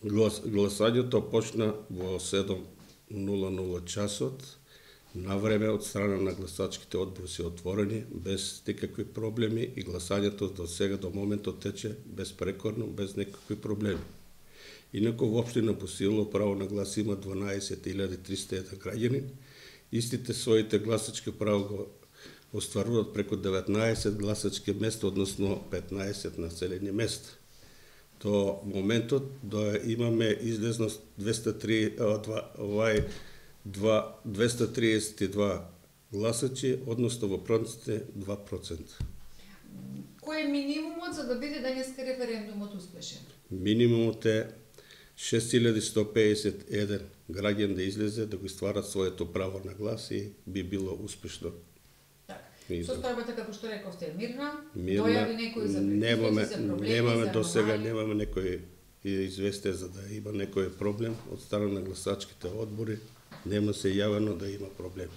Гласањето почна во 7:00 часот. На време од страна на гласачките одбори се отворени, без никакви проблеми и гласањето до сега, до моментот тече безпрекорно, без никакви проблеми. Инаку во општина Босилово право на глас има 12.301 граѓани. Истите своите гласачки право го остваруваат преку 19 гласачки места, односно 15 населени места. До моментот имаме излезност 232 гласачи, односно во проценти 2%. Кој е минимумот за да биде денеска референдумот успешен? Минимумот е 6151 граѓан да излезе да го стварат своето право на глас и би било успешно. Состојбата, како што рековте, е мирна? Мирна. Дојави некој за предизвици, за проблеми, немаме за до сега аномалии? немаме некој известие за да има некој проблем од страна на гласачките одбори. Нема се јавено да има проблем.